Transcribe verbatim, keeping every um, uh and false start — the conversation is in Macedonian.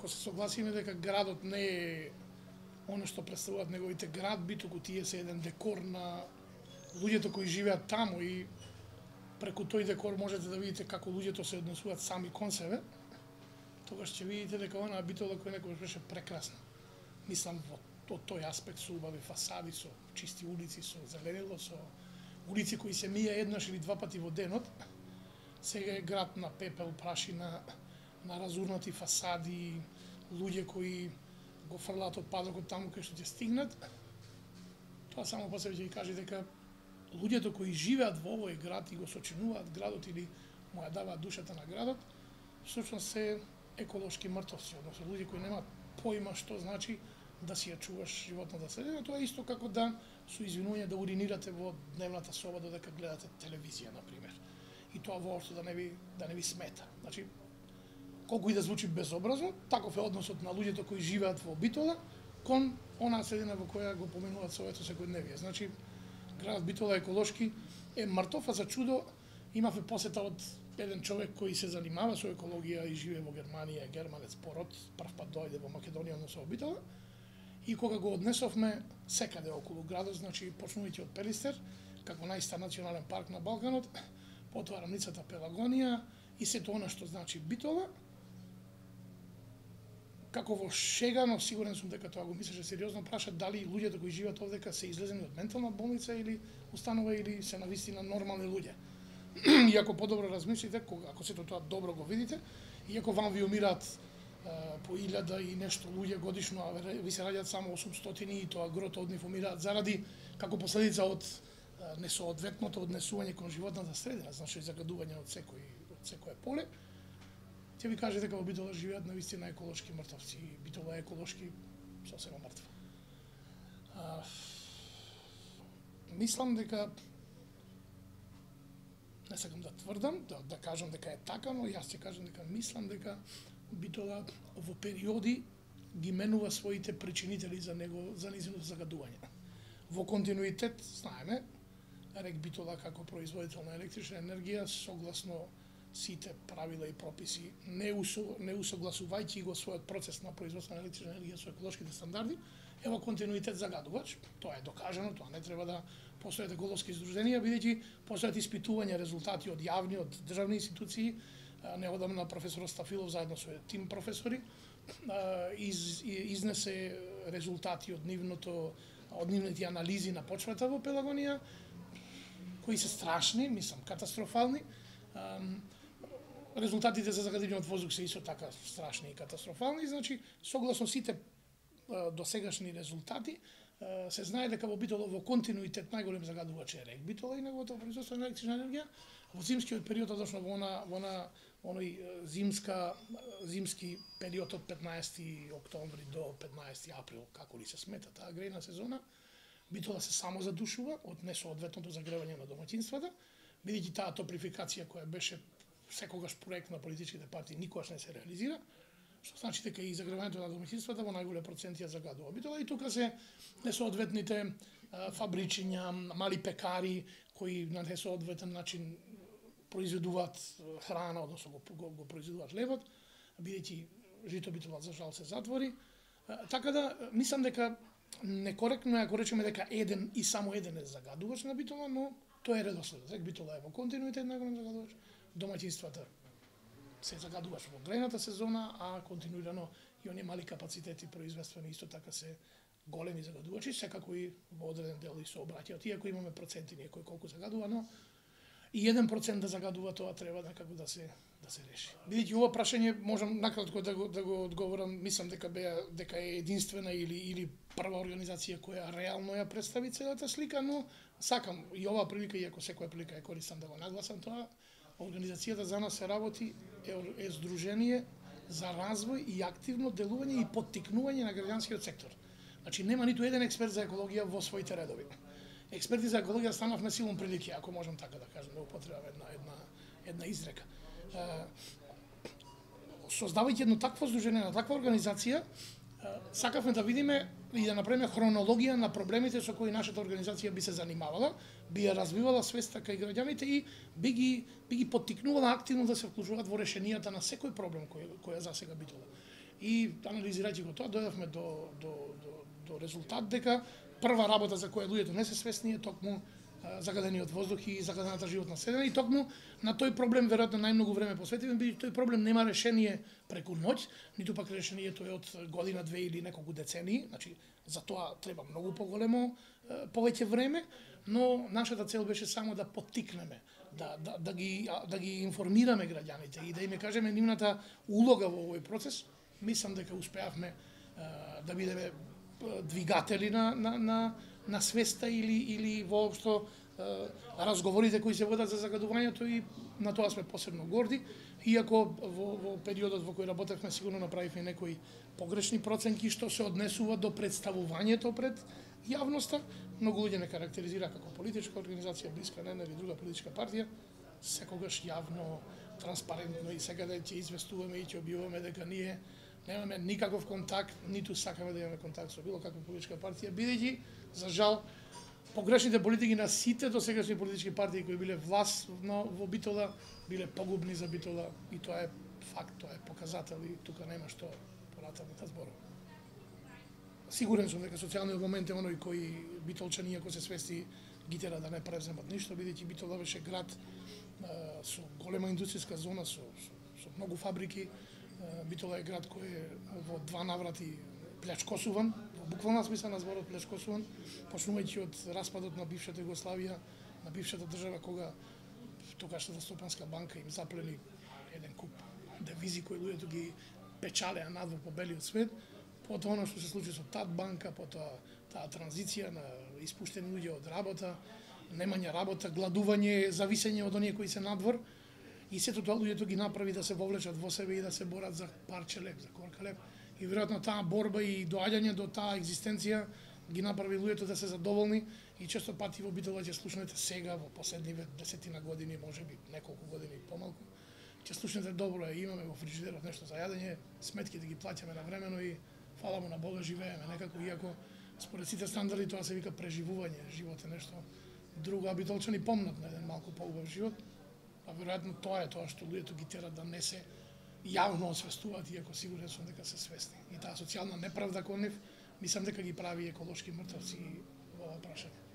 ако се согласиме дека градот не е оно што представуваат неговите градби, туку тие се еден декор на луѓето кои живеат таму и преку тој декор можете да видите како луѓето се однесуваат сами кон себе, тогаш ќе видите дека онаа битола која некогаш беше прекрасна. Мислам во од тој аспект со убави фасади, со чисти улици, со зеленило, со улици кои се мија еднаш или два пати во денот, сега е град на пепел, прашина, на разурнати фасади, луѓе кои го фрлаат отпадокот таму кај што ќе стигнат. Тоа само по себе ќе ви каже дека луѓето кои живеат во овој град и го сочинуваат градот или му ја даваат душата на градот, всушност се еколошки мртовци, односно луѓе кои немаат поима што значи да си ја чуваш животната средина. Тоа е исто како да со извинување да уринирате во дневната соба додека гледате телевизија, на пример. И тоа воопшто да не ви да не ви смета. Значи, колку и да звучи безобразно, таков е односот на луѓето кои живеат во Битола кон онаа средина во која го поминуваат своето секојдневие. Значи, градот Битола еколошки е мртов, а за чудо имавме посета од еден човек кој се занимава со екологија и живее во Германија, германец пород, прв пат дојде во Македонија, односно во Битола. И кога го однесовме секаде околу градот, значи почнувајќи од Пелистер, како најстар национален парк на Балканот, потоа рамницата Пелагонија и сето она што значи Битола, како во шега, но сигурен сум дека тоа го мислеше сериозно, праша дали луѓето кои живеат овдека се излезени од ментална болница или установа или се навистина нормални луѓе. И ако подобро размислите, кога ако сето тоа добро го видите, и ако вам ви умираат по илјада и нешто луѓе годишно, а ви се раѓаат само осумстотини и тоа грото од нив умираат заради како последица од несоодветното однесување кон животната средина, значи загадување од секој од секое поле, ќе ви каже дека во Битола живеат навистина еколошки мртовци и Битола е еколошки сосема мртва. А, мислам дека не сакам да тврдам, да, да кажам дека е така, но јас ќе кажам дека мислам дека Битола во периоди ги менува своите причинители за него за низиното загадување. Во континуитет, знаеме, рек Битола како производител на електрична енергија согласно сите правила и прописи, не, усо, не усогласувајќи го својот процес на производство на електрична енергија со еколошките стандарди, е во континуитет загадувач. Тоа е докажано, тоа не треба да постојат еколошки издруженија, бидејќи постојат испитувања, резултати од јавни, од државни институции. Неодамна професор Стафилов заедно со тим професори из, изнесе резултати од нивното од нивните анализи на почвата во Пелагонија, кои се страшни, мислам, катастрофални. Резултатите за загадување од воздух се исто така страшни и катастрофални, значи согласно сите досегашни резултати се знае дека во Битола во континуитет најголем загадувач е рек Битола и неговото производство на електрична енергија. Во зимскиот период, односно во она во она оној зимска зимски период од петнаесети октомври до петнаесети април, како ли се смета таа грејна сезона, Битола се само задушува од несоодветното загревање на домаќинствата, бидејќи таа топрификација која беше секогаш проект на политичките партии никогаш не се реализира, што значи дека и загревањето на домаќинствата во најголем процент ја загадува Битола. И тука се несоодветните фабричиња, мали пекари кои на несоодветен начин произведуваат храна, односно го, го, го произведуваат лебот, бидејќи Жито Битола за жал се затвори. Така да мислам дека некоректно е ако речеме дека еден и само еден е загадувач на Битола, но тоа е редоследот. Рек Битола е во континуитет најголем загадувач, домаќинствата се загадуваш во грејната сезона, а континуирано и оние мали капацитети производствени исто така се големи загадувачи, секако и во одреден дел и се обраќаат. Иако имаме проценти некој колку загадува, но и еден процент да загадува, тоа треба некако да се да се реши. Бидејќи ова прашање можам накратко да го да го одговорам, мислам дека беа дека е единствена или или прва организација која реално ја представи целата слика, но сакам и оваа прилика, иако секоја прилика е користам да го нагласам тоа, организацијата за нас се работи е, е здружение за развој и активно делување и поттикнување на граѓанскиот сектор. Значи нема ниту еден експерт за екологија во своите редови. Експерти за екологија станавме силом прилики, ако можам така да кажам, да употребам една една една изрека. Создавајќи едно такво здружение, на таква организација, сакавме да видиме и да направиме хронологија на проблемите со кои нашата организација би се занимавала, би ја развивала свеста кај граѓаните и би ги би ги поттикнувала активно да се вклучуваат во решенијата на секој проблем кој која засега Битола. и анализирајќи го тоа дојдовме до до до до резултат дека прва работа за која луѓето не се свесни е токму загадениот воздух и загадената животна средина, и токму на тој проблем веројатно најмногу време посветивме, бидејќи тој проблем нема решение преку ноќ, ниту пак решението е од година, две или неколку децении, значи за тоа треба многу поголемо повеќе време, но нашата цел беше само да поттикнеме, да да да ги да ги информираме граѓаните и да им кажеме нивната улога во овој процес. Мислам дека успеавме да бидеме двигатели на на на на свеста или или воопшто разговорите кои се водат за загадувањето, и на тоа сме посебно горди, иако во, во периодот во кој работевме сигурно направивме некои погрешни проценки што се однесува до представувањето пред јавноста. Многу луѓе не карактеризира како политичка организација блиска на една или друга политичка партија, секогаш јавно, транспарентно, и сега да ќе известуваме и ќе објавуваме дека ние немаме никаков контакт, ниту сакаме да имаме контакт со било каква политичка партија, бидејќи за жал погрешните политики на сите досегашни политички партии кои биле власт во Битола биле погубни за Битола, и тоа е факт, тоа е показател, и тука нема што понатаму да зборува. Сигурен сум дека социјалниот момент е оној кој битолчани, ако се свести, ги тера да не преземат ништо, бидејќи Битола беше град а, со голема индустријска зона, со, со, со многу фабрики. А, Битола е град кој е во два наврати плячкосуван, во буквална смисла на зборот плячкосуван, почнувајќи од распадот на бившата Југославија, на бившата држава, кога тогашната Стопанска банка им заплени еден куп девизи кои луѓето ги печалеа надвор по белиот свет. Потоа оно што се случи со ТАД банка, потоа таа транзиција на испуштени луѓе од работа, немање работа, гладување, зависење од оние кои се надвор, и сето тоа луѓето ги направи да се вовлечат во себе и да се борат за парче леп, за корка леп. И веројатно таа борба и доаѓање до таа екзистенција ги направи луѓето да се задоволни, и често пати во Битола ќе слушнете сега во последниве десетина години, можеби неколку години помалку, ќе слушнете добро е, имаме во фриџидерот нешто за јадење, сметките ги плаќаме навремено и фала му на Бога живееме некако, иако според сите стандарди тоа се вика преживување, живот е нешто друго, а битолчани помнат на еден малку поубав живот, а веројатно тоа е тоа што луѓето ги тера да не се јавно освестуваат, иако сигурен сум дека се свесни. И таа социјална неправда кон нив, мислам дека ги прави еколошки мртовци во ова прашање.